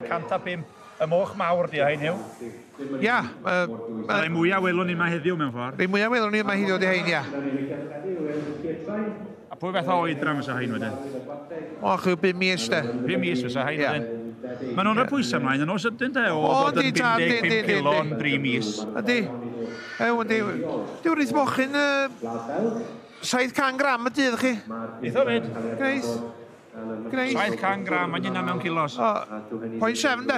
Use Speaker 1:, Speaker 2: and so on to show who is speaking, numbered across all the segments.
Speaker 1: 105. Y moch mawr di hein, Huw.
Speaker 2: Ia.
Speaker 1: Rhai mwyaf welwn ni yma heddiw mewn ffordd.
Speaker 2: Rhai mwyaf welwn ni yma heddiw di hein, ia.
Speaker 1: A pwy fath o oedran fysa hein wedyn?
Speaker 2: O, chwi 5 mis de.
Speaker 1: 5 mis fysa hein wedyn. Maen nhw'n rhoi pwysau ymlaen yn o sydyn de, o fod yn 55 kilo yn 3 mis.
Speaker 2: Ydy. Ew, ydy. Dyw'r rith mochyn 700 gram y dydd chi.
Speaker 1: Eitha fyd.
Speaker 2: Gneith. Gneith.
Speaker 1: 700 gram, mae'n yna mewn kilos.
Speaker 2: O, 0.7 de.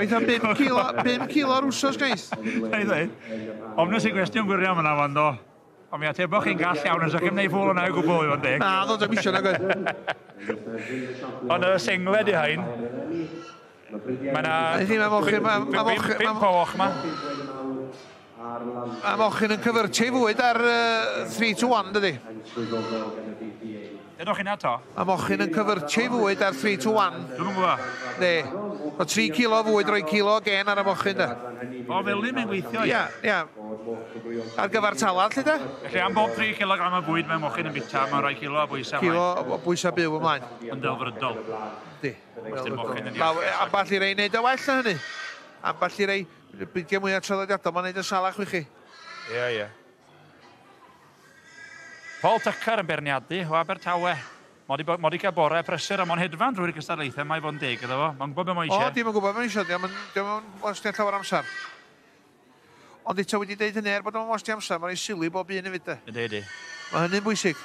Speaker 2: Eitha 5 kilo, 5 kilo ar wsos gneith.
Speaker 1: Ei ddweud. Ofnus i gwestiwn gwirion yna fan do. Ond mi ateboch chi'n gall iawn, os ydych chi'n gwneud ffwl o'na o gwbl, i fod yn deg.
Speaker 2: Na, ddod am isio na gwaith.
Speaker 1: Ond y sengled i hain, mae na...
Speaker 2: Mae mochyn...
Speaker 1: 5 o och ma.
Speaker 2: Mae mochyn yn cyfyrtio i fwyd ar 3 to 1, dydy.
Speaker 1: Dynwch chi'n ato?
Speaker 2: Mae mochyn yn cyfyrtio i fwyd ar 3 to 1.
Speaker 1: Dwi'm yn gwybod.
Speaker 2: Ne. O 3 kilo o fwyd, rhoi kilo o gen ar y mochyn, da.
Speaker 1: O, fel ni mae'n gweithio,
Speaker 2: ia. Ia, ia. Ar gyfer talad, lle da?
Speaker 1: Felly am bob 3 kg o bwyd mae mochyn yn bita, mae'n rhoi kilo o bwysau ymlaen.
Speaker 2: Kilo o bwysau byw ymlaen.
Speaker 1: Yn delfrydol.
Speaker 2: Di.
Speaker 1: Delfrydol.
Speaker 2: Amball i rei wneud o well na hynny. Amball i rei, beidio mwyaf traddodiadol, mae'n neud yn salach wych chi.
Speaker 1: Ie, ie. Paul Tucker yn beirniadu o Abertawe. Mod i cael bore prysur a mo'n hedfan drwy'r gystadlaethau, mae fod yn deg iddo fo. Mae'n gwybod beth mae eisiau.
Speaker 2: O, dim yn gwybod beth mae eisiau, dim yn wastio llawer amser. Ond eto wedi deud hynny, er bod o'n wastio amser, mae'n ei sylwi bob un hefyd de.
Speaker 1: Ydy, ydy.
Speaker 2: Mae hynny'n bwysig.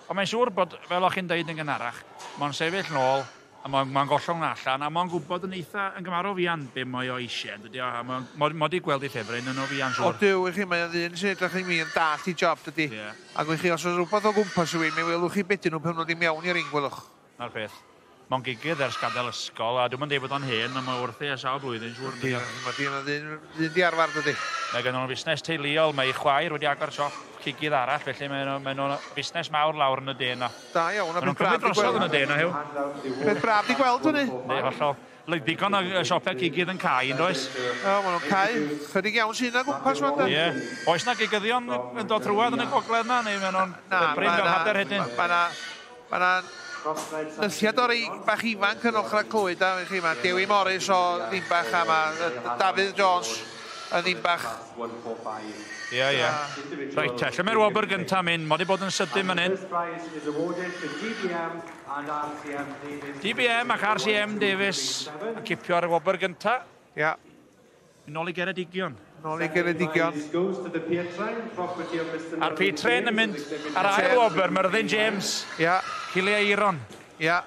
Speaker 1: Ond mae'n siŵr bod, fel o'ch chi'n deud yn gynharach, mae'n sefyll nôl, a mae'n gollwng allan, a mae'n gwybod yn eitha yn gymharol fuan be mae o eisiau, dydy o, a mae'n di gweld ei ffefryn yn o fuan, siŵr.
Speaker 2: O, dyw, i chi, mae'n ddyn sy'n edrych i mi yn dallt i job, dydy.
Speaker 1: Yeah.
Speaker 2: Ac i chi, os oes rhywbeth o gwmpas yw i, mi welwch chi beth nhw pan nhw'n ddim iawn i'r ring, welwch.
Speaker 1: Na'r peth. Mae'n gigydd ers gadael ysgol, a dwi'm yn deud bod o'n hen, ond mae wrthi ers sawl blwyddyn, siŵr.
Speaker 2: Ydy, mae dyn ddyn di arfer, dydy.
Speaker 1: Mae gen nhw'n fusnes teuluol, mae ei chwaer wedi agor siop cigydd arall, felly mae nhw'n fusnes mawr lawr yn y de yna.
Speaker 2: Da iawn, a
Speaker 1: Maen nhw'n
Speaker 2: beth braf
Speaker 1: cymryd
Speaker 2: di
Speaker 1: drosodd
Speaker 2: gweld.
Speaker 1: yn y de yna, Huw.
Speaker 2: Beth braf di gweld hynny.
Speaker 1: Yndi, hollol. Digon o siopau cigydd yn cau, yn does?
Speaker 2: O, maen nhw'n cau. Chydig iawn sy'n yna gwmpas fan da.
Speaker 1: Ie. Oes na gigyddion yn dod trwad yn y gogledd na, neu maen nhw'n brin fel hader hedyn?
Speaker 2: Mae na nythiad o'r bach ifanc yn ochr Clwyd, a chi, mae Dewi Morris o Ddimbach a mae Dafydd Jones yn Ddimbach.
Speaker 1: Ie, ie. Reit, lle mae'r wobr gyntaf mynd? Mae wedi bod yn sydyn fan hyn. DBM ac RCM Davies yn cipio'r wobr gyntaf.
Speaker 2: Ia.
Speaker 1: Yn ôl i Geredigion.
Speaker 2: Nôl i Geredigion.
Speaker 1: A'r P-Train yn mynd ar ail wobr, Myrddin James.
Speaker 2: Ia.
Speaker 1: Cilia Eiron.
Speaker 2: Ia.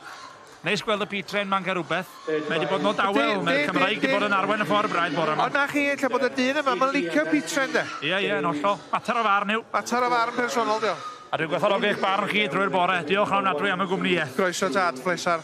Speaker 1: Neis gweld y P-Train ma'n cael rhywbeth. Mae wedi bod yn o dawel, mae'r Cymraeg wedi bod yn arwain y ffordd braidd bore yma.
Speaker 2: O na chi, ella bod y dyn yma, mae'n licio P-Train de.
Speaker 1: Ie, ie, yn hollol. Mater o farn yw.
Speaker 2: Mater o farn personol, diolch.
Speaker 1: A dwi'n gwerthfawrogi eich barn chi drwy'r bore. Diolch yn ofnadwy am y gwmnïaeth.
Speaker 2: Croeso tad, pleser.